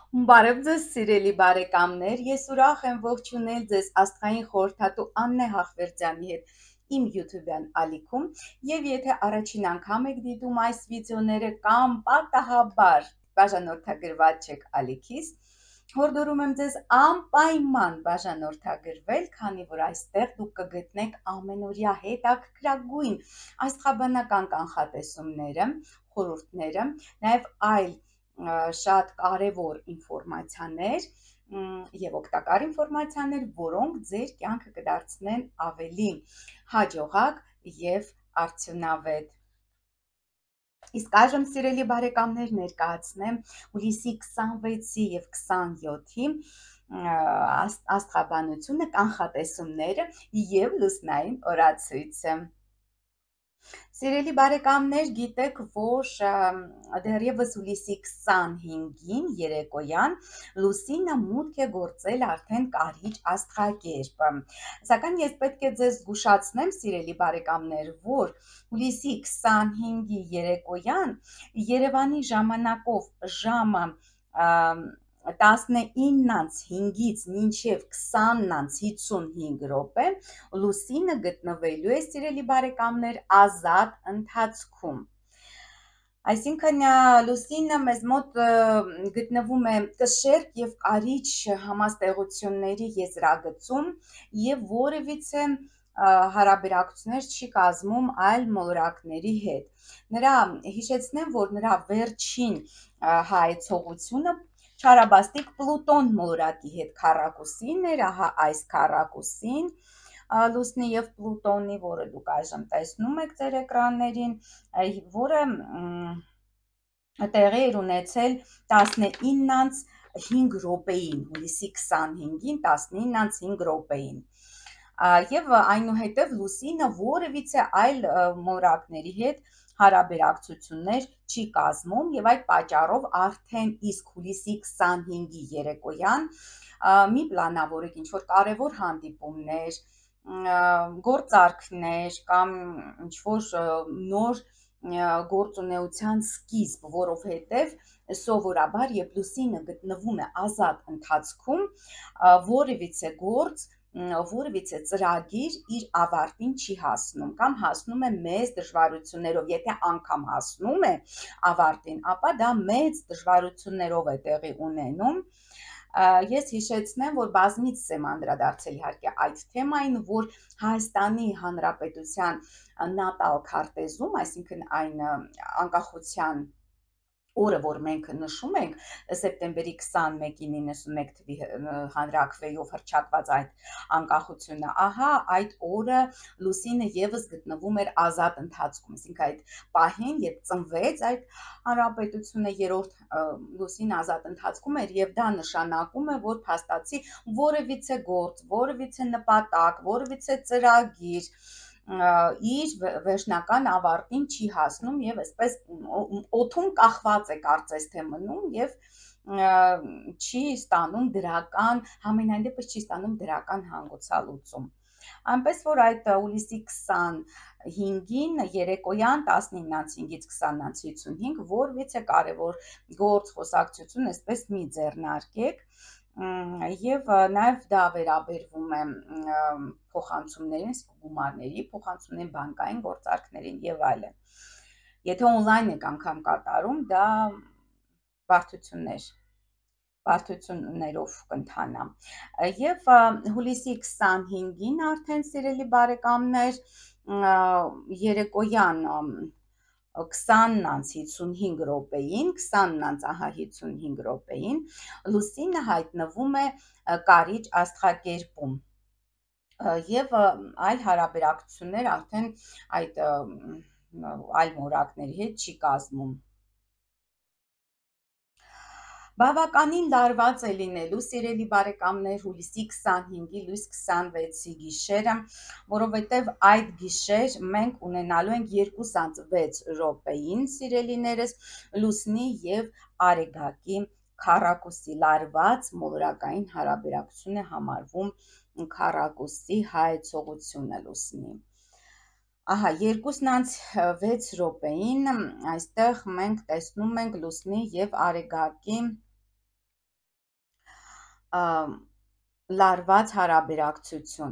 Բարև ձեզ սիրելի բարեկամներ, ես ուրախ եմ ողջունել ձեզ աստղային խորհրդատու Աննե Հախվերդյանի հետ իմ YouTube-յան ալիքում, եւ եթե առաջին անգամ եք դիտում այս վիդեոները կամ պատահաբար բաժանորդագրված չեք ալիքիս, հորդորում եմ ձեզ անպայման բաժանորդագրվել, քանի որ այստեղ դուք կգտնեք ամենօրյա հետաքրքրագույն աստղաբանական կանխատեսումները, խորհուրդները, նաև այլ շատ կարևոր ինֆորմացիաներ եւ օգտակար ինֆորմացիաներ, որոնք ձեր կյանքը կդարձնեն ավելի հաջողակ եւ արդյունավետ։ Իսկ այժմ սիրելի բարեկամներ ներկայացնեմ հուլիսի 26-ի եւ 27-ի աստղաբանությունը, կանխատեսումները եւ լուսնային օրացույցը։ Սիրելի բարեկամներ, գիտեք, որ դեռևս հուլիսի 25-ին երեկոյան լուսինը մուտք է գործել արդեն կարիճ աստղակերպ։ Սակայն ես պետք է ձեզ զգուշացնեմ, սիրելի բարեկամներ, որ հուլիսի 25-ի երեկոյան Երևանի ժամանակով ժամը 19:05-ից մինչև 20:55 րոպե լուսինը գտնվելու է, սիրելի բարեկամներ, ազատ ընթացքում։ Այսինքն լուսինը մեզ մոտ գտնվում է կշեռք եւ կարիճ համաստեղությունների եզրագծում եւ որևիցե հարաբերակցություններ չի կազմում այլ մոլորակների հետ։ Հիշեցնեմ, որ նրա վերջին հայեցողությունը չարաբաստիկ Պլուտոն մոլորակի հետ քառակուսին էր, ահա այս քառակուսին լուսնի եւ Պլուտոնի, որը դուք այժմ տեսնում եք ձեր էկրաններին, որը տեղի էր ունեցել 19:05 րոպեին, հուլիսի 25-ին 19:05 րոպեին։ Եվ այնուհետև լուսինը որևիցե այլ մոլորակների հետ հարաբերակցություններ չի կազմում եւ այդ պատճառով արդեն իսկ հուլիսի 25-ի երեկոյան մի պլանավորեք ինչ-որ կարևոր հանդիպումներ, գործարքներ կամ ինչ-որ նոր գործունեության սկիզբ, որովհետև սովորաբար երբ լուսինը գտնվում է ազատ ընթացքում, որևիցե գործ, որևիցե ծրագիր իր ավարտին չի հասնում կամ հասնում է մեծ դժվարություններով, եթե անգամ հասնում է ավարտին, ապա դա մեծ դժվարություններով է տեղի ունենում։ Ես հիշեցնեմ, որ բազմիցս եմ անդրադարձել իհարկե այդ թեմային, որ Հայաստանի Հանրապետության նատալ քարտեզում, այսինքն այն անկախության օրը, որ մենք նշում ենք սեպտեմբերի 21-ի 91 թվի հանրաքվեով հռչակված այդ անկախությունը, ահա այդ օրը լուսինը եւս գտնվում էր ազատ ընթացքում, այսինքն այդ պահին, երբ ծնվեց այդ հանրապետությունը, երրորդ լուսին ազատ ընթացքում էր եւ դա նշանակում է, որ փաստացի որևիցե գործ, որևիցե նպատակ, որևիցե ծրագիր իր վերջնական ավարտին չի հասնում եւ այսպես օդում կախված է կարծես թե մնում եւ չի ստանում դրական, համենայն դեպս չի ստանում դրական հանգուցալուծում։ Այնպես որ այդ հուլիսի 25-ին երեկոյան 19:05-ից 20:55 որևիցե կարևոր գործ, խոսակցություն այսպես մի ձեռնարկեք, եւ նաեւ դա վերաբերվում է փոխանցումներին, գումարների փոխանցումներին, բանկային գործարքներին եւ այլն։ Եթե on-line եք անգամ կատարում, դա բարդություններով կընթանա։ Եվ հուլիսի 25-ին արդեն, սիրելի բարեկամներ, երեկոյան 20:55 րոպեին, 20:55 րոպեին լուսինը հայտնվում է կարիճ աստղակերպում եւ այլ հարաբերակցություններ արդեն այդ այլ մոլորակների հետ չի կազմում։ Բավականին լարված է լինելու, սիրելի բարեկամներ, հուլիսի 25-ի լույս 26-ի գիշերը, որովհետև այդ գիշեր մենք ունենալու ենք 2:06 րոպեին, սիրելիներս, լուսնի եւ արեգակի քառակուսի լարված մոլորակային հարաբերակցություն է համարվում քառակուսի հայեցողությունը լուսնի։ Ահա 2:06 րոպեին այստեղ մենք տեսնում ենք լուսնի եւ արեգակի լարված հարաբերակցություն,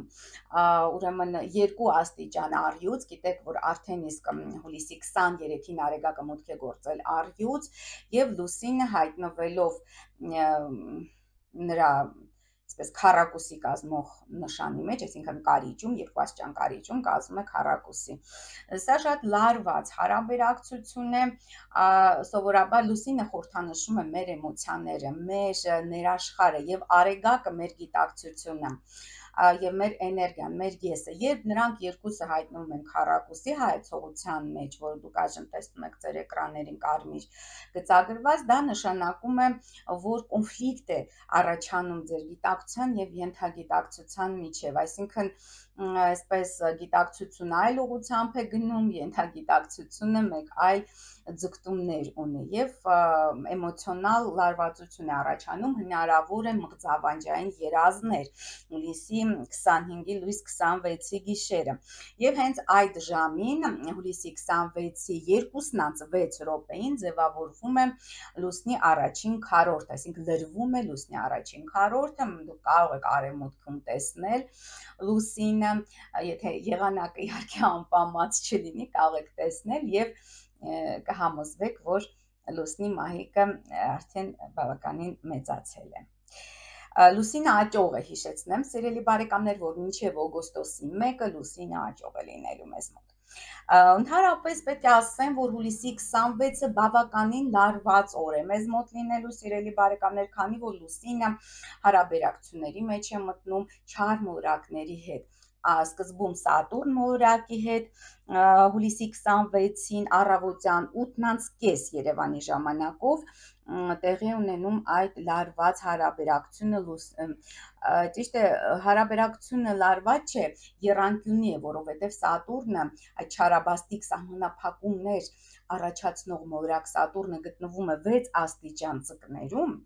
ուրեմն 2 աստիճան առյուծ, գիտեք, որ արդեն իսկ հուլիսի 23-ին Արեգակը մուտք է գործել առյուծ եւ լուսինը հայտնվելով նրա այսպես քառակուսի կազմող նշանի մեջ, այսինքն կարիճում, 2 աստիճան կարիճում կազմում է քառակուսի։ Սա շատ լարված հարաբերակցություն է, սովորաբար լուսինը խորհրդանշում է մեր էմոցիաները, մեր ներաշխարհը եւ Արեգակը մեր գիտակցությունը եւ մեր էներգիան, մեր եսը, երբ նրանք երկուսը հայտնվում են քառակուսի հայեցողության մեջ, որ դուք այժմ տեսնում եք ձեր էկրաններին կարմիր գծագրված, դա նշանակում է, որ կոնֆլիկտ է առաջանում ձեր գիտակցության եւ ենթագիտակցության միջեւ, այսինքն այսպես գիտակցությունը այլ ուղղությամբ է գնում, ենթագիտակցությունը մեկ այլ ձգտումներ ունի եւ էմոցիոնալ լարվածություն է առաջանում, հնարավոր է մղձավանջային երազներ հուլիսի 25-ի լույս 26-ի գիշերը եւ հենց այդ ժամին հուլիսի 26-ի 2:06 րոպեին ձևավորվում է լուսնի առաջին քառորդը, այսինքն լրվում է լուսնի առաջին քառորդը, դուք կարող եք արևմուտքում տեսնել լուսինը, եթե եղանակը իհարկե անպամած չլինի, կարող եք տեսնել եւ կհամոզվեք, որ լուսնի մահիկը արդեն բավականին մեծացել է։ Լուսինը աճող է, հիշեցնեմ, սիրելի բարեկամներ, որ մինչև օգոստոսի 1-ը լուսինը աճող է լինելու մեզ մոտ։ Ընդհանրապես պետք է ասեմ, որ հուլիսի 26-ը բավականին լարված օր է մեզ մոտ լինելու, սիրելի բարեկամներ, քանի որ լուսինը հարաբերակցությունների մեջ է մտնում չար մոլորակների հետ։ Սկզբում Սատուրն մոլորակի հետ հուլիսի 26-ին առավոտյան 8:30 Երևանի ժամանակով տեղի ունենում այդ լարված հարաբերակցությունը, ճիշտ է, հարաբերակցությունը լարված չէ, եռանկյունի է, որովհետև Սատուրնը այդ չարաբաստիկ սահմանափակումներ առաջացնող մոլորակ Սատուրնը գտնվում է 6 աստիճան ձկներում,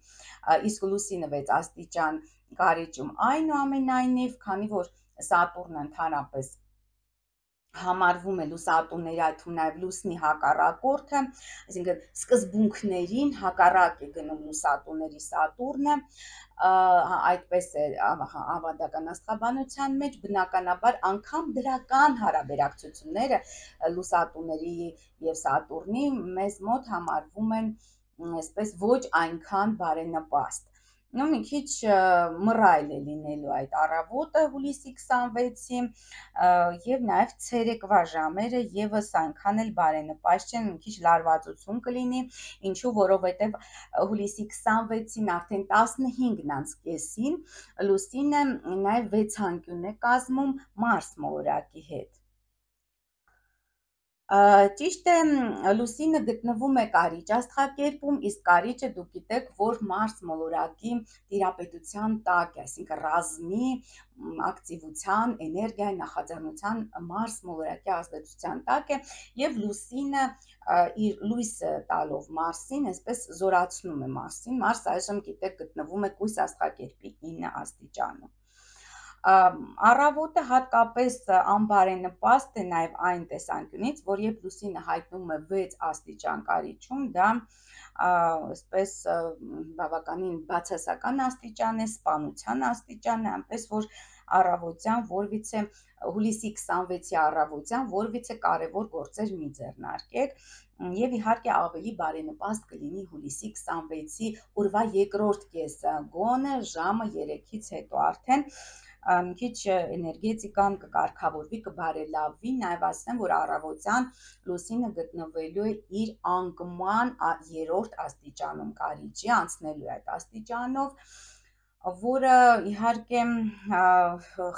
իսկ լուսինը 6 աստիճան կարիճում, այնուամենայնիվ, քանի որ Սատուրնը ընդհանրապես համարվում է լուսատուների, այդ թվում նաև լուսնի հակառակորդը, այսինքն սկզբունքներին հակառակ է գնում լուսատուների Սատուրնը, այդպես է ավանդական աստղաբանության մեջ, բնականաբար անգամ դրական հարաբերակցությունները լուսատուների եւ Սատուրնի մեզ մոտ համարվում են այսպես ոչ այնքան բարենպաստ։ Մի քիչ մռայլ է լինելու այդ առավոտը հուլիսի 26-ի եւ նաեւ ցերեկվա ժամերը եւս այնքան էլ բարենպաստ չեն, մի քիչ լարվածություն կլինի, ինչու, որովհետեւ հուլիսի 26-ին արդեն 15:30-ին լուսինը նաեւ 6 անկյուն է կազմում Մարս մոլորակի հետ։ Ճիշտ է, լուսինը գտնվում է կարիճ աստղակերպում, իսկ կարիճը դուք գիտեք, որ Մարս մոլորակի տիրապետության տակ է, այսինքն ռազմի, ակտիվության, էներգիայի, նախաձեռնության Մարս մոլորակի ազդեցության տակ է եւ լուսինը իր լույսը տալով Մարսին, այսպես զորացնում է Մարսին։ Մարս այժմ գիտեք գտնվում է կույս աստղակերպի 9 աստիճանում։ Առավոտը հատկապես անբարենպաստ է նաև այն տեսանկյունից, որ երբ լուսինը հայտնվում է 6 աստիճան կարիճում, դա այսպես բավականին բացասական աստիճան է, սպանության աստիճան է, այնպես որ առավոտյան որևիցե հուլիսի 26-ի առավոտյան որևիցե կարևոր գործեր մի ձեռնարկեք եւ իհարկե ավելի բարենպաստ կլինի հուլիսի 26-ի օրվա երկրորդ կեսը, գոնե ժամը 3-ից հետո արդեն մի քիչ էներգետիկան կկարգավորվի, կբարելավվի, նաև ասեմ, որ առավոտյան լուսինը գտնվելու է իր անկման 3-րդ աստիճանում կարիճի, անցնելու է այդ աստիճանով, որը իհարկե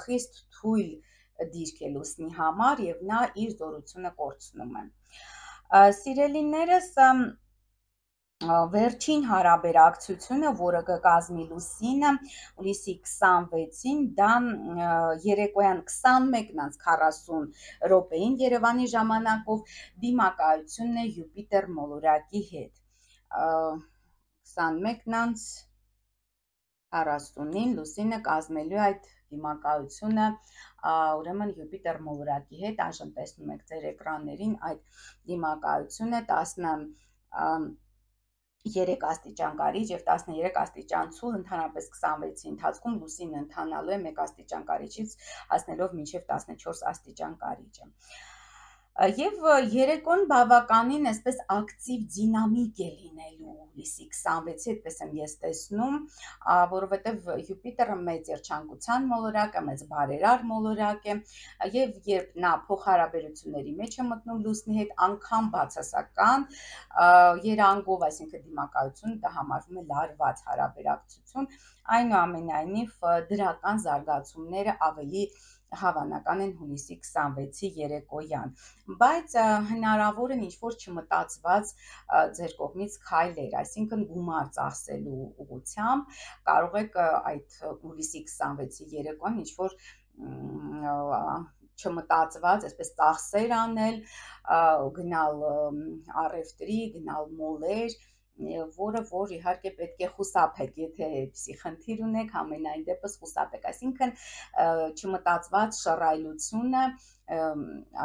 խիստ թույլ դիրք է լուսնի համար եւ նա իր զորությունը կորցնում է։ Սիրելիներս, վերջին հարաբերակցությունը, որը կկազմի լուսինը հուլիսի 26-ին, դա երեկոյան 21:40 րոպեին Երևանի ժամանակով դիմակայությունն է Յուպիտեր մոլորակի հետ։ 21:40-ին լուսինը կազմելու է այդ դիմակայությունը ուրեմն Յուպիտեր մոլորակի հետ, այժմ տեսնում եք ձեր էկրաններին այդ դիմակայությունը 3 աստիճան կարիճ եւ 13 աստիճան ցուլ, ընդհանրապես 26-ի ընթացքում լուսինը ընթանալու է 1 աստիճան կարիճից հասնելով մինչև 14 աստիճան կարիճը։ Եվ երեկոն բավականին այսպես ակտիվ դինամիկ է լինելու հուլիսի 26-ի, այդպես եմ ես տեսնում, որովհետև Յուպիտերը մեծ երջանկության մոլորակ է, մեծ բարերար մոլորակ է, եւ երբ նա փոխհարաբերությունների մեջ է մտնում լուսնի հետ, անգամ բացասական երանգով, այսինքն դիմակայություն, դա համարվում է լարված հարաբերակցություն, այնուամենայնիվ դրական զարգացումները ավելի հավանական են հուլիսի 26-ի երեկոյան, բայց հնարավոր են ինչ-որ չմտածված ձեր կողմից քայլեր, այսինքն գումար ծախսելու ուղղությամբ կարող եք այդ հուլիսի 26-ի երեկոյան ինչ-որ չմտածված, այսպես ծախսեր անել, գնալ առևտրի, գնալ մոլեր, որ իհարկե պետք է խուսափեք, եթե այդպիսի խնդիր ունեք, ամենայն դեպս խուսափեք, այսինքն չմտածված շռայլությունը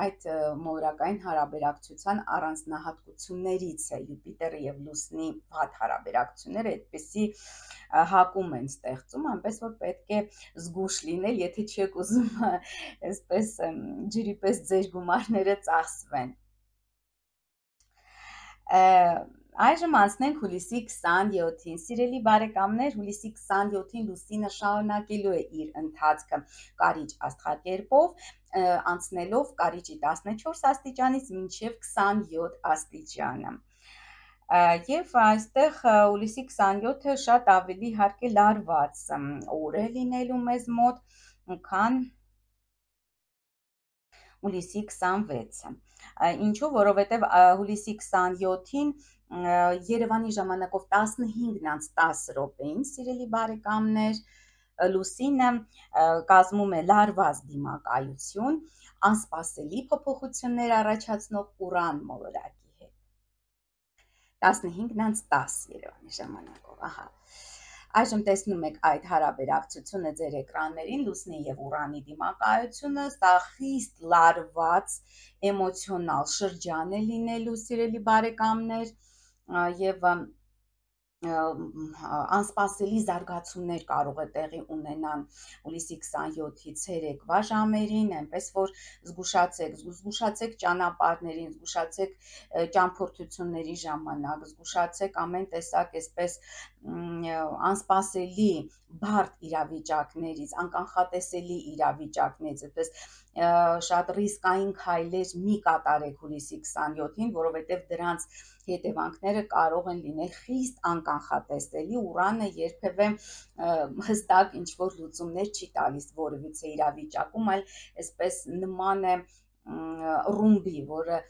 այդ մոլորակային հարաբերակցության առանձնահատկություններից է, Յուպիտերը եւ լուսնի վատ հարաբերակցությունները այդպիսի հակում են ստեղծում, այնպես որ պետք է զգուշ լինել, եթե չեք ուզում այսպես ջրի պես ձեր գումարները ծախսվեն։ Այժմ անցնենք հուլիսի 27-ին, սիրելի բարեկամներ, հուլիսի 27-ին լուսինը շարունակելու է իր ընթացքը կարիճ աստղակերպով, անցնելով կարիճի 14 աստիճանից մինչև 27 աստիճանը։ Եվ այստեղ հուլիսի 27-ը շատ ավելի իհարկե լարված օր է լինելու մեզ մոտ, քան հուլիսի 26-ը։ Ինչու, որովհետև հուլիսի 27-ին Երևանի ժամանակով 15:10 րոպեին, սիրելի բարեկամներ, լուսինը կազմում է լարված դիմակայություն, անսպասելի փոփոխություններ առաջացնող Ուրան մոլորակի հետ։ 15:10 Երևանի ժամանակով, ահա։ Այժմ տեսնում եք այդ հարաբերակցությունը ձեր էկրաններին, լուսնի եւ Ուրանի դիմակայությունը, սա խիստ լարված էմոցիոնալ շրջան է լինելու, սիրելի բարեկամներ, եւ անսպասելի զարգացումներ կարող է տեղի ունենան հուլիսի 27-ի ցերեկվա ժամերին, այնպես որ զգուշացեք ճանապարհներին, զգուշացեք ճամփորդությունների ժամանակ, զգուշացեք ամեն տեսակ այսպես անսպասելի բարդ իրավիճակներից, անկանխատեսելի իրավիճակներից, այսպես շատ ռիսկային քայլեր մի կատարեք հուլիսի 27-ին, որովհետև դրանց հետևանքները կարող են լինել խիստ անկանխատեսելի, Ուրանը երբևէ հստակ ինչ-որ լուծումներ չի տալիս որևիցե իրավիճակում, այլ այսպես նման է ռումբի, որը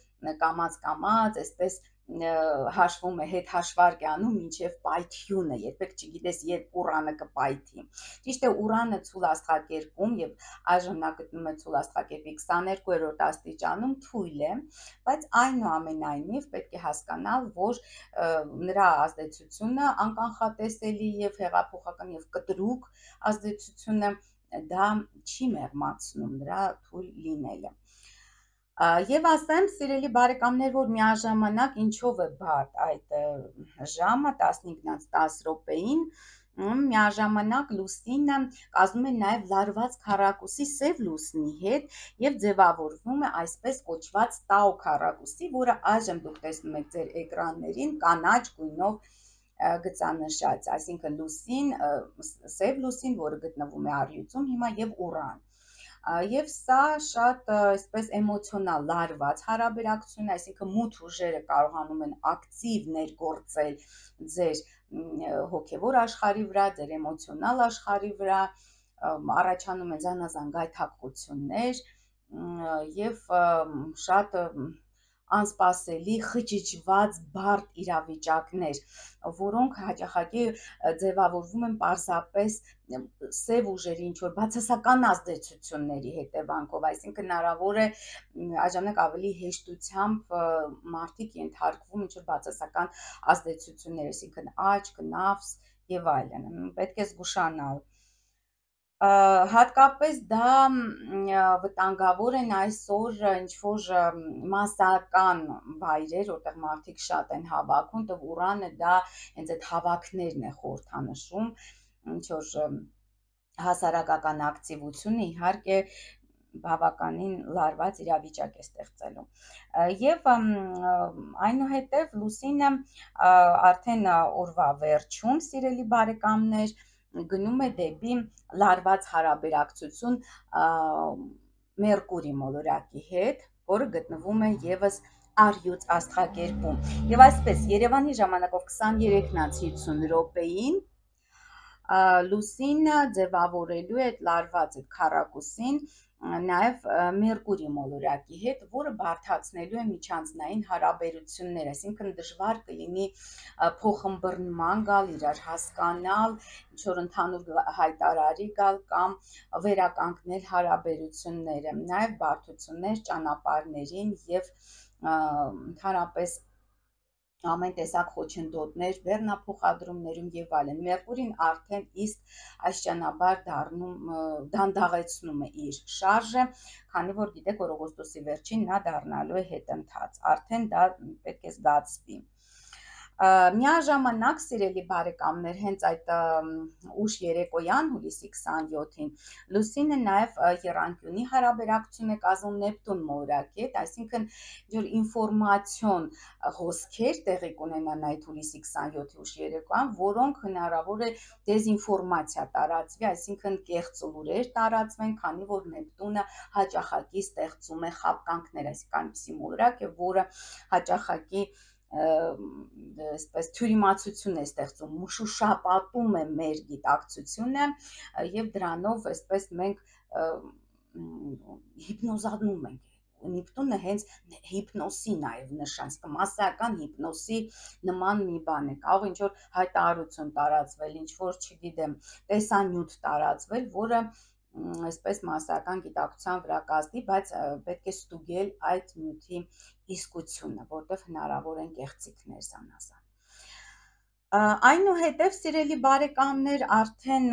կամած-կամած այսպես հաշվում է, հետ հաշվարկ է անում մինչև պայթյունը, երբեք չգիտես երբ Ուրանը կպայթի։ Ճիշտ է, Ուրանը ցուլ աստղակերպում եւ այժմ նա գտնվում է ցուլ աստղակերպի 22-րդ աստիճանում, թույլ է, բայց այնուամենայնիվ պետք է հասկանալ, որ նրա ազդեցությունը անկանխատեսելի եւ հեղափոխական եւ կտրուկ ազդեցությունը դա չի մեղմացնում նրա թույլ լինելը։ Եվ ասեմ, սիրելի բարեկամներ, որ միաժամանակ ինչով է բարդ այդ ժամը 15:10 րոպեին, միաժամանակ լուսինը կազմում է նաև լարված քառակուսի սև լուսնի հետ եւ ձևավորվում է այսպես կոչված տաո քառակուսի, որը այժմ դուք տեսնում եք ձեր էկրաններին կանաչ գույնով գծանշած, այսինքն լուսին, սև լուսին, որը գտնվում է առյուծում հիմա եւ Ուրան։ Եվ սա շատ այսպես էմոցիոնալ լարված հարաբերակցություն, այսինքն մութ ուժերը կարողանում են ակտիվ ներգործել ձեր հոգևոր աշխարհի վրա, ձեր էմոցիոնալ աշխարհի վրա, առաջանում են զանազան գայթակղություններ եւ շատ անսպասելի խճճված բարդ իրավիճակներ, որոնք հաճախակի ձևավորվում են պարզապես սև ուժերի ինչ-որ բացասական ազդեցությունների հետևանքով, այսինքն հնարավոր է այժմնակ ավելի հեշտությամբ մարդիկ ենթարկվում ինչ-որ բացասական ազդեցություններ, այսինքն աչք, նավս եւ այլն, պետք է զգուշանալ։ Հատկապես դա վտանգավոր են այսօր ինչ-որ մասսական վայրեր, որտեղ մարդիկ շատ են հավաքում, Ուրանը դա հենց այդ հավաքներն է խորհրդանշում, ինչ-որ հասարակական ակտիվությունը իհարկե բավականին լարված իրավիճակ է ստեղծելու։ Եվ այնուհետև Լուսինը արդեն օրվա վերջում, սիրելի բարեկամներ, գնում է դեպի լարված հարաբերակցություն Մերկուրի մոլորակի հետ, որը գտնվում է եւս առյուծ աստղակերպում։ Եվ այսպես Երևանի ժամանակով 23:50 րոպեին Լուսինը ձևավորելու է այդ լարված այդ քառակուսին նաև Մերկուրի մոլորակի հետ, որը բարդացնելու է միջանձնային հարաբերությունները, այսինքն դժվար կլինի փոխըմբռնման գալ, իրար հասկանալ, ինչ-որ ընդհանուր հայտարարի գալ կամ վերականգնել հարաբերությունները, նաև բարդություններ ճանապարհներին եւ ընդհանրապես ամեն տեսակ խոչընդոտներ բեռնափոխադրումներում եւ այլն։ Մերկուրին արդեն իսկ այս ճանապարհ դանդաղեցնում է իր շարժը, քանի որ գիտեք, որ օգոստոսի վերջին նա դառնալու է հետընթաց, արդեն դա պետք է զգացվի։ Միաժամանակ, սիրելի բարեկամներ, հենց այդ ուշ երեկոյան հուլիսի 27-ին Լուսինը նաև եռանկյունի հարաբերակցություն է կազմում Նեպտուն մոլորակի հետ, այսինքն ինչ-որ ինֆորմացիոն հոսքեր տեղի կունենան այդ հուլիսի 27-ի ուշ երեկոյան, որոնք հնարավոր է դեզինֆորմացիա տարածվի, այսինքն կեղծ լուրեր տարածվեն, քանի որ Նեպտունը հաճախակի ստեղծում է խաբկանքներ, այսինքն այնպիսի մոլորակ է, որը հաճախակի այսպես թյուրիմացություն է ստեղծում, մշուշապատում է մեր գիտակցությունը եւ դրանով այսպես մենք հիպնոզանում ենք։ Նեպտունը հենց հիպնոսի նաև նշան, մասսայական հիպնոսի նման մի բան է, կարող ինչ-որ հայտարարություն տարածվել, ինչ-որ, չգիտեմ, տեսանյութ տարածվել, որը այսպես մասսայական գիտակցության վրա կազդի, բայց պետք է ստուգել այդ նյութի իսկությունը, որտեղ հնարավոր են կեղծիքներ զանազան։ Այնուհետև, սիրելի բարեկամներ, արդեն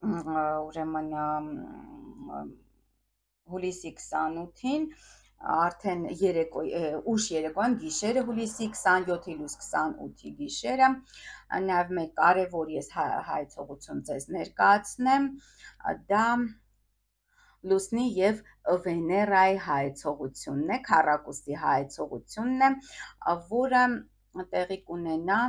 ուրեմն հուլիսի 28-ին արդեն ուշ երեկոյան գիշերը հուլիսի 27-ի լույս 28-ի գիշերը նաև մեկ կարևոր ես հայցողություն ձեզ ներկայացնեմ, դա Լուսնի եւ Վեներայի հայցողությունն է, քառակուսի հայցողությունն է, որը տեղի կունենա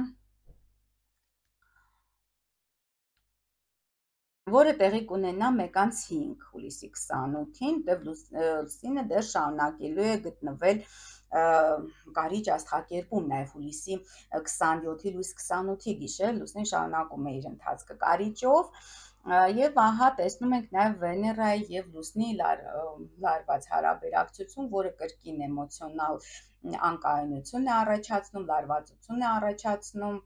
1:05 հուլիսի 28-ին, դեռ Լուսինը դեռ շարունակելու է գտնվել կարիճ աստղակերպում, նաև հուլիսի 27-ի լույս 28-ի գիշեր Լուսինը շարունակում է իր ընթացքը կարիճով, եւ ահա տեսնում ենք նաև Վեներայի եւ Լուսնի լարված հարաբերակցություն, որը կրկին էմոցիոնալ անկայունություն է առաջացնում, լարվածություն է առաջացնում,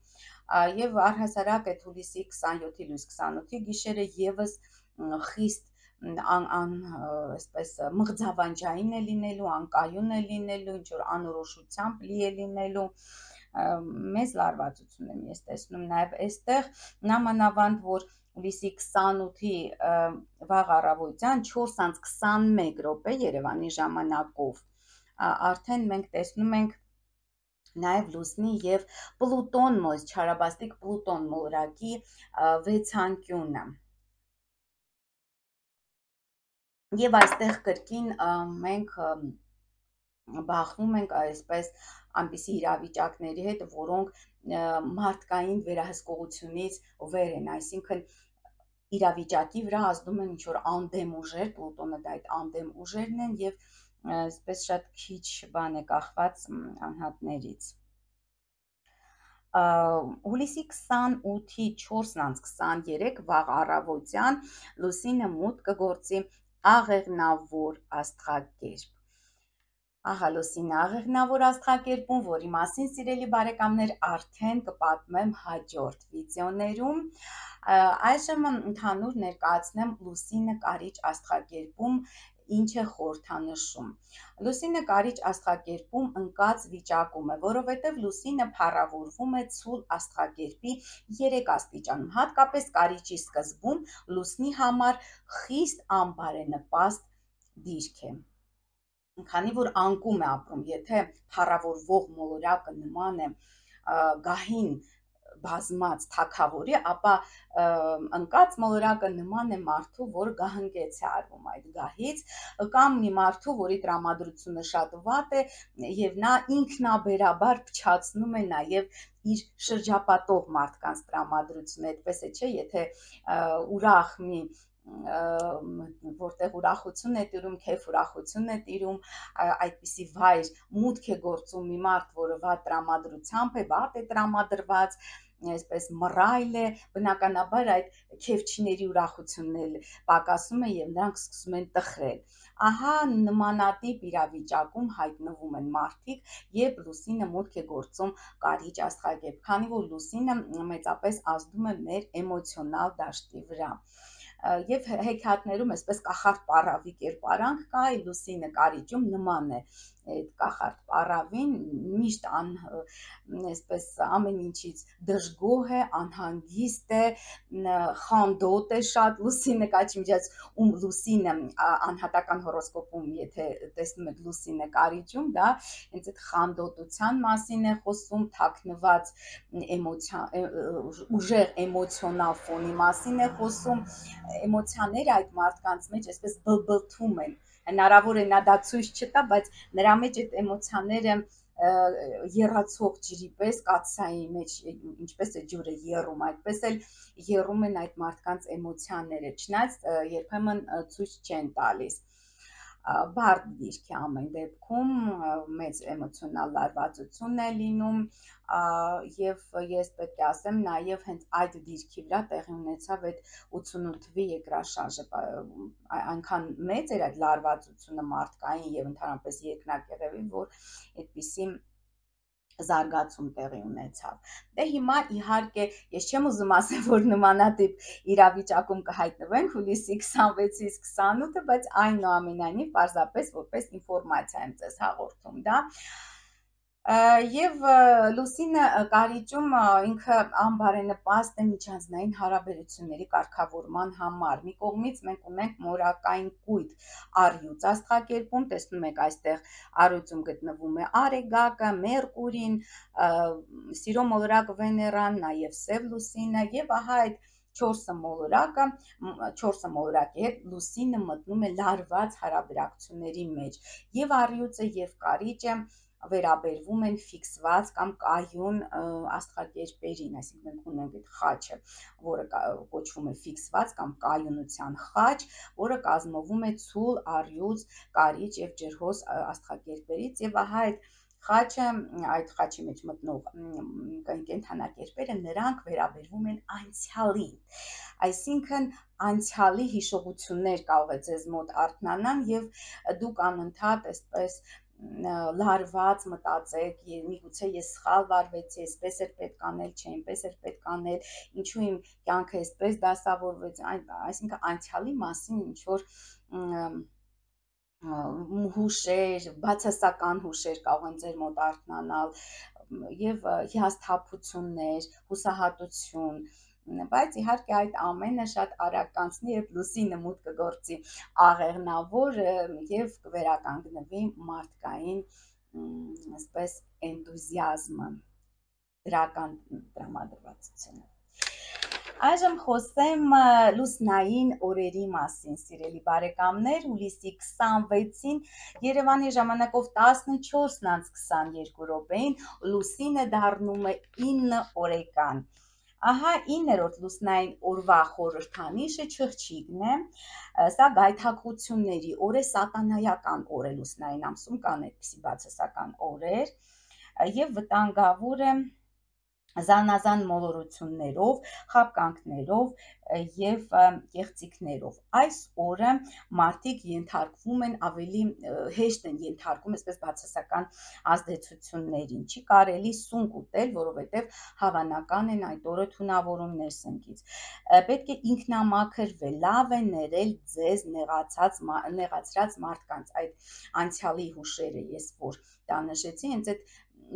եւ առհասարակ այդ հուլիսի 27-ի լույս 28-ի գիշերը եւս խիստ այսպես մղձավանջային է լինելու, անկայուն է լինելու, ինչ-որ անորոշությամբ լի է լինելու, մեծ լարվածություն եմ ես տեսնում նաև այստեղ, նամանավանդ որ հուլիսի 28-ի վաղ առավոտյան 4:21 րոպե Երևանի ժամանակով արդեն մենք տեսնում ենք նաև Լուսնի եւ Պլուտոն չարաբաստիկ Պլուտոն մոլորակի 6-անկյունը։ Եվ այստեղ կրկին մենք բախվում ենք այսպես այնպիսի իրավիճակների հետ, որոնք մարդկային վերահսկողությունից վեր են, այսինքն իրավիճակի վրա ազդում են ինչ-որ անդեմ ուժեր, Պլուտոնը դա այդ անդեմ ուժերն են եւ այսպես շատ քիչ բան է կախված անհատներից։ Հուլիսի 28-ի 4:23 վաղ առավոտյան Լուսինը մուտք կգործի աղեղնավոր աստղակերպ։ Ահա Լուսինը աղեղնավոր աստղակերպում, որի մասին, սիրելի բարեկամներ, արդեն կպատմեմ հաջորդ վիդեոներում։ Այժմ ընդհանուր ներկայացնեմ Լուսինը կարիճ աստղակերպում ինչ է խորհրդանշում։ Լուսինը կարիճ աստղակերպում ընկած վիճակում է, որովհետև լուսինը փառավորվում է ցուլ աստղակերպի 3 աստիճանում, հատկապես կարիճի սկզբում լուսնի համար խիստ անբարենպաստ դիրք է։ Քանի որ անկում է ապրում, եթե փառավորվող մոլորակը նման է գահին բազմած թագավորի, ապա ընկած մոլորակը նման է մարդու, որ գահընկեց է արվում այդ գահից, կամ մի մարդու, որի տրամադրությունը շատ վատ է եւ նա ինքնաբերաբար փչացնում է նաեւ իր շրջապատող մարդկանց տրամադրությունը, այդպես է, չէ, եթե ուրախ մի որտեղ ուրախություն է տիրում, քեֆ ուրախություն է տիրում, այդպիսի վայր մուտք է գործում մի մարդ, որը վատ տրամադրությամբ է, վատ է տրամադրված, այսպես մռայլ է, բնականաբար այդ քեֆչիների ուրախությունն էլ պակասում է եւ նրանք սկսում են տխրել։ Ահա նմանատիպ իրավիճակում հայտնվում են մարդիկ, երբ լուսինը մուտք է գործում կարիճ աստղակերպ, քանի որ լուսինը մեծապես ազդում է մեր էմոցիոնալ դաշտի վրա։ Եվ հեքիաթներում այսպես կախարդ պառավի կերպարանք կա, լուսինը կարիճում նման է այդ կախարդ պառավին, միշտ այսպես ամեն ինչից դժգոհ է, անհանգիստ է, խանդոտ է շատ, լուսինը կաչի միջած լուսինը անհատական հորոսկոպում, եթե տեսնում եք լուսինը կարիճում, դա հենց այդ խանդոտության մասին է խոսում, թաքնված ուժեղ էմոցիոնալ ֆոնի մասին է խոսում, էմոցիաները այդ մարդկանց մեջ այսպես բլբլթում են, հնարավոր է նա դա ցույց չտա, բայց նրա մեջ այդ էմոցիաները եռացող ջրի պես կաթսայի մեջ ինչպես է ջուրը եռում, այդպես էլ եռում են այդ մարդկանց էմոցիաները, չնայած երբեմն ցույց չեն տալիս։ Բարդ դիրք է ամեն դեպքում, մեծ էմոցիոնալ լարվածություն է լինում, եւ ես պետք է ասեմ նաեւ հենց այդ դիրքի վրա տեղի ունեցավ այդ 88 թվի երկրաշարժը, այնքան մեծ էր այդ լարվածությունը մարդկային եւ ընդհանրապես երկնակեղևի, որ այդպիսի զարգացում տեղի ունեցավ։ Դե հիմա իհարկե ես չեմ ուզում ասել, որ նմանատիպ իրավիճակում կհայտնվենք հուլիսի 26-ից 28-ը, բայց այնուամենայնիվ պարզապես որպես ինֆորմացիա եմ ձեզ հաղորդում, դա։ Եվ լուսինը կարիճում ինքը անբարենպաստ է միջանձնային հարաբերությունների կարգավորման համար։ Մի կողմից մենք ունենք մորակային կույտ առյուծ աստղակերպում, տեսնում եք այստեղ առյուծում գտնվում է Արեգակը, Մերկուրին, Սիրո մոլորակ Վեներան, նաև Սև լուսինը, եւ ահա այդ 4 մոլորակի հետ լուսինը մտնում է լարված հարաբերակցությունների մեջ, եւ առյուծը եւ կարիճը վերաբերվում են ֆիքսված կամ կայուն աստղակերպերին, այսինքն մենք ունենք այդ խաչը, որը կոչվում է ֆիքսված կամ կայունության խաչ, որը կազմվում է ցուլ, առյուծ, կարիճ եւ ջրհոս աստղակերպերից, եւ ահա այդ խաչի մեջ մտնող կենդանակերպերը նրանք վերաբերվում են անցյալին, այսինքն անցյալի հիշողություններ կարող է ձեզ մոտ արթնանան եւ դուք անընդհատ այսպես լարված մտածեք, միգուցե ես սխալ վարվեցի, այսպես էր պետք անել, չէ, այնպես էր պետք անել, ինչու իմ կյանքը այսպես դասավորվեց, այսինքն անցյալի մասին ինչ որ հուշեր, բացասական հուշեր կարող են ձեր մոտ արթնանալ եւ հիասթափություններ, հուսահատություն, բայց իհարկե այդ ամենը շատ արագ կանցնի, երբ լուսինը մուտք կգործի աղեղնավոր եւ կվերականգնվի մարդկային այսպես էնտուզիազմը, դրական տրամադրվածությունը։ Այժմ խոսեմ լուսնային օրերի մասին, սիրելի բարեկամներ, հուլիսի 26-ին Երևանի ժամանակով 14:22 րոպեին լուսինը դառնում է 9 օրեկան։ Ահա 9-րդ լուսնային օրվա խորհրդանիշը չղջիկն է, սա գայթակղությունների օր է, սատանայական օր է լուսնային ամսում, կան այդպիսի բացասական օրեր, եւ վտանգավոր է զանազան մոլորություններով, խաբկանքներով եւ կեղծիքներով։ Այս օրը մարդիկ ենթարկվում են ավելի հեշտ են ենթարկում այսպես բացասական ազդեցություններին։ Չի կարելի սունկ ուտել, որովհետեւ հավանական են այդ օրը թունավորումներ սնկից։ Պետք է ինքնամաքրվել, լավ է ներել ձեզ նեղացրած մարդկանց, այդ անցյալի հուշերը ես որ դա նշեցի, հենց այդ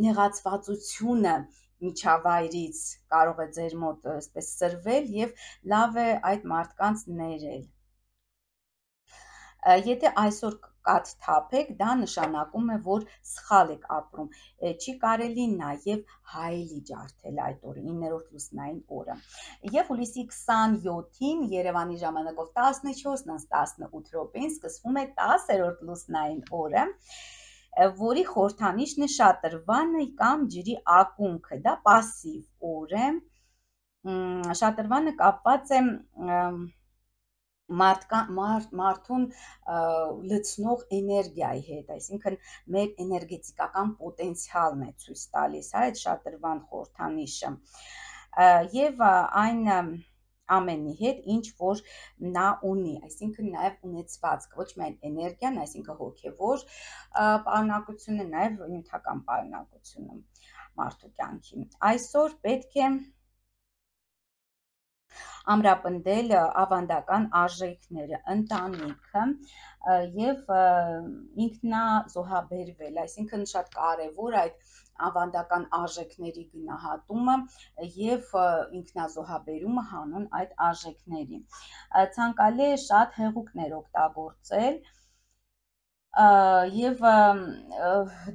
նեղացվածությունը միջավայրից կարող է ձեր մոտ այսպես սրվել եւ լավ է այդ մարդկանց ներել։ Եթե այսօր կաթ թափեք, դա նշանակում է, որ սխալ եք ապրում։ Չի կարելի նաև հայելի ջարդել այդ օրը, 9-րդ լուսնային օրը։ Եվ հուլիսի 27-ին Երևանի ժամանակով 14:18 րոպեին սկսվում է 10-րդ լուսնային օրը, որի խորհրդանիշն է շատրվանը կամ ջրի ակունքը, դա պասիվ օր է, շատրվանը կապված է մարդուն լցնող էներգիայի հետ, այսինքն մեր էներգետիկական պոտենցիալն է ցույց տալիս, այդ շատրվան խորհրդանիշը, եւ այն ամենի հետ, ինչ որ նա ունի, այսինքն նաև ունեցվածք, ոչ միայն էներգիան, այսինքն հոգևոր պարունակությունը, նաև նյութական պարունակությունը մարդու կյանքի։ Այսօր պետք է ամրապնդել ավանդական արժեքները, ընտանիքը եւ ինքնազոհաբերվել, այսինքն շատ կարևոր այդ ավանդական արժեքների գնահատումը եւ ինքնազոհաբերումը հանուն այդ արժեքների։ Ցանկալի է շատ հեղուկներ օգտագործել եւ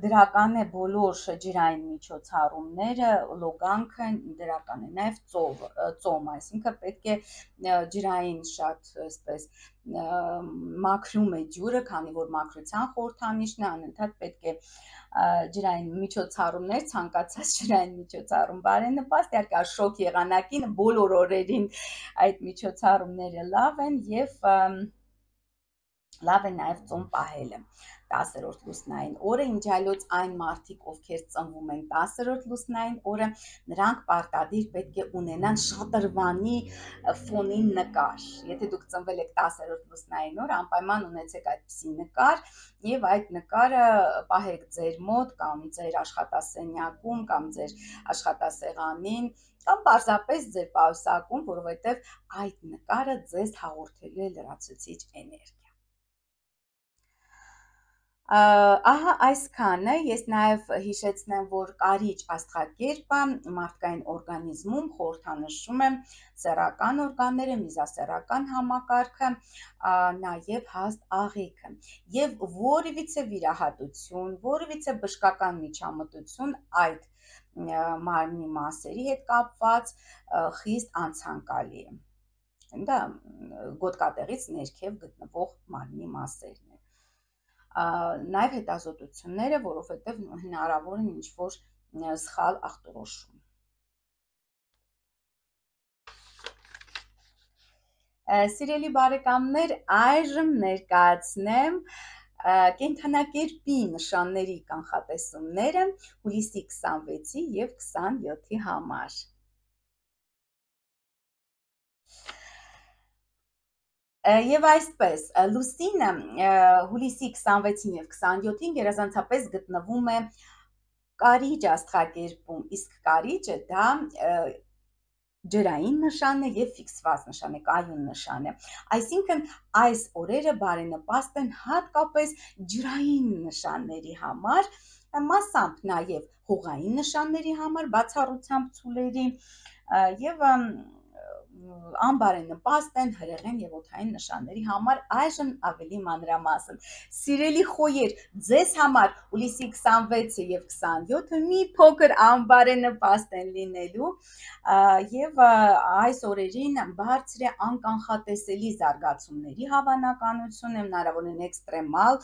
դրական է բոլոր ջրային միջոցառումները, լոգանքը դրական է, նաև ծոմ, այսինքն պետք է ջրային շատ այսպես մաքրում է ջուրը, քանի որ մաքրության խորհրդանիշն է, անընդհատ պետք է ջրային միջոցառումներ, ցանկացած ջրային միջոցառում բարենպաստ, իհարկե շոկ եղանակին բոլոր օրերին այդ միջոցառումները լավ են եւ լավ է նաև ծոմ պահելը 10-րդ լուսնային օրը, ինչ այլոց այն մարդիկ, ովքեր ծնվում են 10-րդ լուսնային օրը, նրանք պարտադիր պետք է ունենան շատրվանի ֆոնին նկար։ Եթե դուք ծնվել եք 10-րդ լուսնային օրը, անպայման ունեցեք այդպիսի նկար եւ այդ նկարը պահեք ձեր մոտ կամ ձեր աշխատասենյակում կամ ձեր աշխատասեղանին կամ պարզապես ձեր պայուսակում, որովհետեւ այդ նկարը ձեզ հաղորդելու է լրացուցիչ էներգիա։ Ահա այսքանը, ես նաև հիշեցնեմ, որ կարիճ աստղակերպը մարդկային օրգանիզմում խորհրդանշում է սեռական օրգանները, միզասեռական համակարգը, նաև հաստ աղիքը եւ որևիցե վիրահատություն, որևիցե բժշկական միջամտություն այդ մարմնի մասերի հետ կապված խիստ անցանկալի է։ Դա գոտկատեղից ներքև գտնվող մարմնի մասերն են։ Նաև հետազոտությունները, որովհետև հնարավոր են ինչ-որ սխալ ախտորոշում։ Սիրելի բարեկամներ, այժմ ներկայացնեմ կենդանակերպի նշանների կանխատեսումները հուլիսի 26-ի և 27-ի համար։ Եվ այսպես, լուսինը հուլիսի 26-ին և 27-ին գերազանցապես գտնվում է կարիճ աստղակերպում, իսկ կարիճը դա ջրային նշան է և ֆիքսված նշան է, կայուն նշան է։ Այսինքն այս օրերը բարենպաստ են հատկապես ջրային նշանների համար, մասամբ նաև հողային նշանների համար, բացառությամբ ցուլերի եւ անբարենպաստ են հրեղեն եւ օդային նշանների համար, այժմ ավելի մանրամասն։ Սիրելի խոյեր, ձեզ համար հուլիսի 26-ը եւ 27-ը մի փոքր անբարենպաստ են լինելու եւ այս օրերին բարձր է անկանխատեսելի զարգացումների հավանականություն, հնարավոր են էքստրեմալ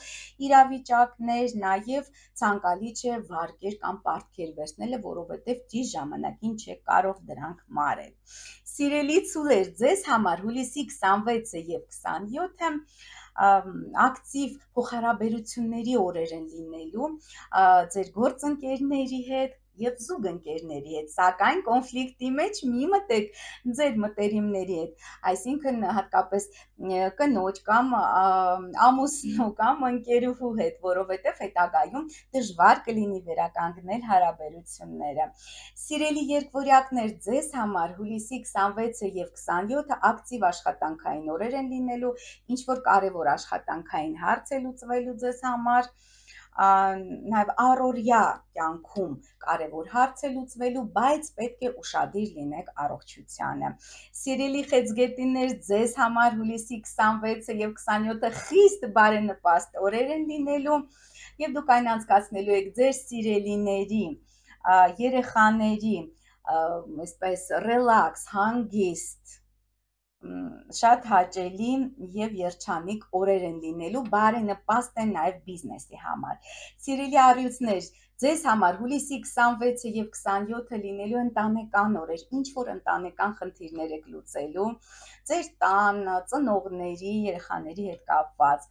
իրավիճակներ, նաեւ ցանկալի չէ վարկեր կամ պարտքեր վերցնելը, որովհետեւ ճիշտ ժամանակին չեք կարող դրանք մարել։ Սիրելի ցուլեր, ձեզ համար հուլիսի 26-ը եւ 27-ը ակտիվ փոխհարաբերությունների օրեր են լինելու ձեր գործընկերների հետ եւ զուգընկերների հետ, սակայն կոնֆլիկտի մեջ մի մտեք ձեր մտերիմների հետ, այսինքն հատկապես կնոջ կամ ամուսնու կամ ընկերուհու հետ, որովհետեւ հետագայում դժվար կլինի վերականգնել հարաբերությունները։ Սիրելի երկվորյակներ, ձեզ համար հուլիսի 26-ը եւ 27-ը ակտիվ աշխատանքային օրեր են լինելու, ինչ որ կարևոր աշխատանքային հարց է լուծվելու ձեզ համար, նաև առօրյա կյանքում կարևոր հարց է լուծվելու, բայց պետք է ուշադիր լինեք առողջությանը։ Սիրելի խեցգետիններ, ձեզ համար հուլիսի 26-ը եւ 27-ը խիստ բարենպաստ օրեր են լինելու եւ դուք այն անցկացնելու եք ձեր սիրելիների, երեխաների, այսպես ռելաքս, հանգիստ, շատ հաճելի եւ երջանիկ օրեր են լինելու, բարենպաստ են նաեւ բիզնեսի համար։ Սիրելի առյուծներ, ձեզ համար հուլիսի 26-ը եւ 27-ը լինելու ընտանեկան օրեր, ինչ որ ընտանեկան խնդիրներ եք լուծելու, ձեր տան, ծնողների, երեխաների հետ կապված։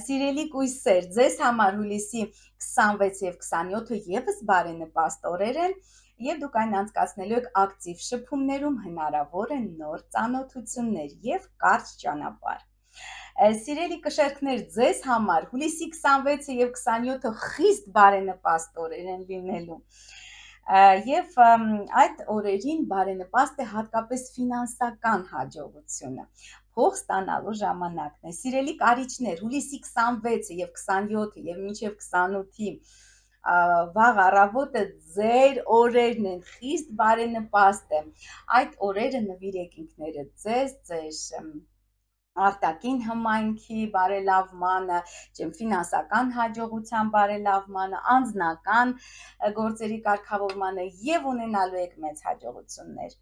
Սիրելի կույսեր, ձեզ համար հուլիսի 26 եւ 27-ը եւս բարենպաստ օրեր են եւ դուք այն անցկացնելու եք ակտիվ շփումներում, հնարավոր են նոր ծանոթություններ եւ կարճ ճանապարհ։ Սիրելի կշերքներ, ձեզ համար հուլիսի 26-ը եւ 27-ը խիստ բարենպաստ օրեր են լինելու։ Եվ այդ օրերին բարենպաստ է հատկապես ֆինանսական հաջողությունը, փող ստանալու ժամանակն է։ Սիրելի կարիճներ, հուլիսի 26-ը եւ 27-ը եւ մինչեւ 28-ի վաղ առավոտը ձեր օրերն են, խիստ բարենպաստ է։ Այդ օրերը նվիրեք ինքներդ ձեզ, ձեր արտաքին հմայքի բարելավմանը, ֆինանսական հաջողության բարելավմանը, անձնական գործերի կարգավորմանը եւ ունենալու եք մեծ հաջողություններ։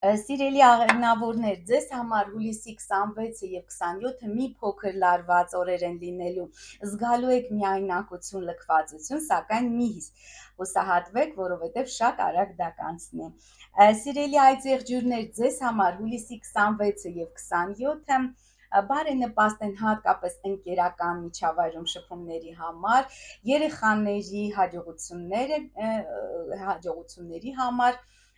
Սիրելի աղեղնավորներ, ձեզ համար հուլիսի 26-ը եւ 27-ը մի փոքր լարված օրեր են լինելու, զգալու եք միայնակություն, լքվածություն, սակայն մի հուսահատվեք, որովհետեւ շատ արագ դա կանցնի։ Սիրելի այծեղջյուրներ, ձեզ համար հուլիսի 26-ը եւ 27-ը բարենպաստ են հատկապես ընկերական միջավայրում շփումների համար, երեխաների հաջողությունների համար,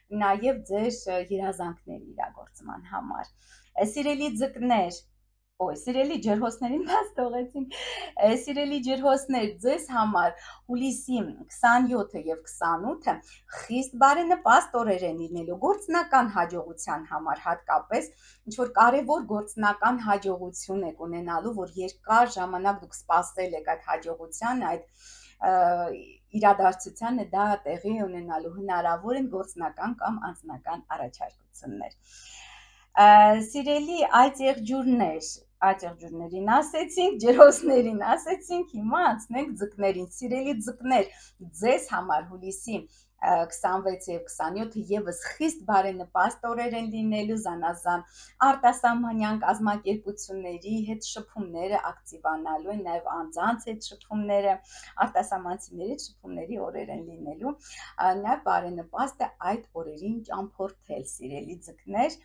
նաև ձեր երազանքների իրագործման համար։ Սիրելի ձկներ, սիրելի ջրհոսներին բաց թողեցինք, սիրելի ջրհոսներ, ձեզ համար հուլիսի 27-ը եւ 28-ը խիստ բարենպաստ օրեր են լինելու գործնական հաջողության համար, հատկապես ինչ որ կարևոր գործնական հաջողություն եք ունենալու, որ երկար ժամանակ դուք սպասել եք այդ հաջողության, այդ իրադարձությանը դա տեղի ունենալու, հնարավոր են գործնական կամ անձնական առաջարկություններ։ Սիրելի այծեղջյուրներին ասեցինք, ջրհոսներին ասեցինք, հիմա անցնենք ձկներին։ Սիրելի ձկներ, ձեզ համար հուլիսի 26 եւ 27-ը եւս խիստ բարենպաստ օրեր են լինելու, զանազան արտասահմանյան կազմակերպությունների հետ շփումները ակտիվանալու են, նաեւ անձանց հետ շփումները, արտասահմանցիների հետ շփումների օրեր են լինելու, նաեւ բարենպաստ է այդ օրերին ճամփորդել, սիրելի ձկներ,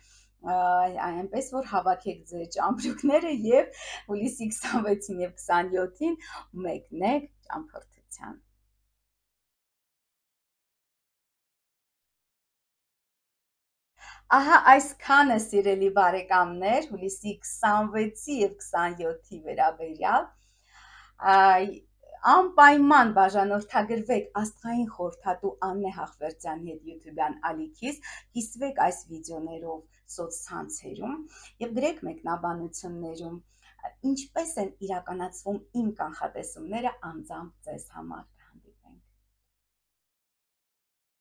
այնպես որ հավաքեք ձեր ճամպրուկները եւ հուլիսի 26-ին եւ 27-ին մեկնեք ճամփորդության։ Ահա այսքանը սիրելի բարեկամներ, հուլիսի 26-ի եւ 27-ի վերաբերյալ, անպայման բաժանորդագրվեք աստղային խորհրդատու Աննե Հախվերդյանի հետ YouTube-յան ալիքից, կիսվեք այս վիդեոներով սոցցանցերում եւ գրեք մեկնաբանություններում, ինչպես են իրականացվում իմ կանխատեսումները անձամբ ձեզ համար։